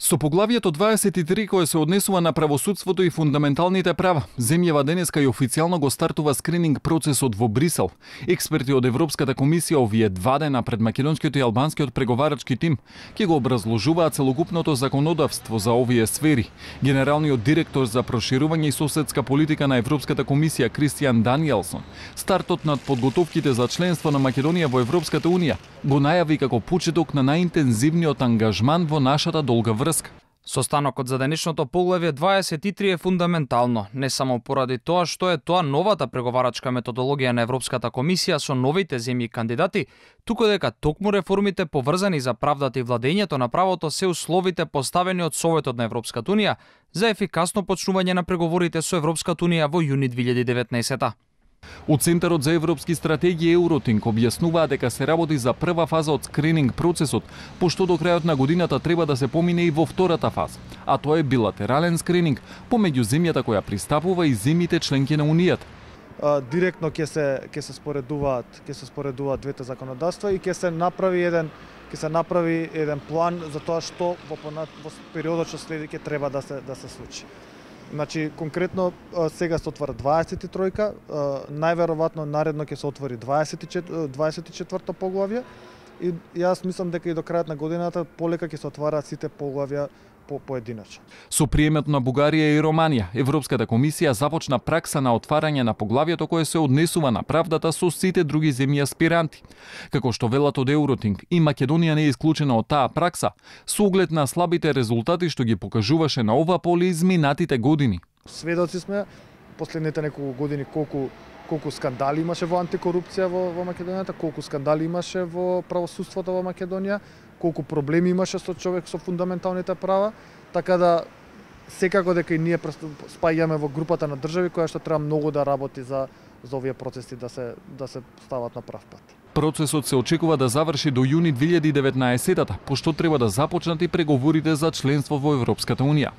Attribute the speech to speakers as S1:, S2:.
S1: Со поглавието 23 кое се однесува на правосудството и фундаменталните права, земјава денеска и официјално го стартува скрининг процесот во Брисел. Експерти од Европската комисија овие 2 дена пред македонскиот и албанскиот преговарачки тим ќе го образложуваат целокупното законодавство за овие сфери. Генералниот директор за проширување и соседска политика на Европската комисија Кристијан Даниелсон стартот над подготовките за членство на Македонија во Европската унија го најави како почеток на најинтензивниот ангажман во нашата долга врска.
S2: Состанокот за денешното поглавје 23 е фундаментално, не само поради тоа што е тоа новата преговарачка методологија на Европската комисија со новите земји кандидати, туку дека токму реформите поврзани за правдата и владењето на правото се условите поставени од Советот на Европската унија за ефикасно почнување на преговорите со Европската унија во јуни 2019.
S1: Од Центарот за европски стратегија Евротинг објаснуваа дека се работи за прва фаза од скрининг процесот, пошто до крајот на годината треба да се помине и во втората фаза, а тоа е билатерален скрининг помеѓу земјата која пристапува и земјите членки на Унијата.
S3: Директно ќе се споредуваат двете законодавства и ќе се направи еден план за тоа што во периодот што следи ќе треба да се случи. Значи, конкретно, сега се отвара 23-ка, најверојатно наредно ќе се отвори 24-то поглавје и јас мислам дека и до крајот на годината полека ќе се отвараат сите поглавја поединачно.
S1: Со приемот на Бугарија и Романија, Европската комисија започна пракса на отварање на поглавјето кое се однесува на правдата со сите други земји аспиранти. Како што велат од Евротинг, и Македонија не е исклучена од таа пракса, со оглед на слабите резултати што ги покажуваше на ова поле изминатите години.
S3: Сведоци сме последните неколку години колку скандали имаше во антикорупција во Македонијата, колку скандали имаше во правосудството во Македонија, колку проблеми имаше со човек со фундаменталните права, така да секако дека и ние спаѓаме во групата на држави која што треба многу да работи за овие процеси да се стават на прав пат.
S1: Процесот се очекува да заврши до јуни 2019, пошто треба да започнат и преговорите за членство во Европската унија.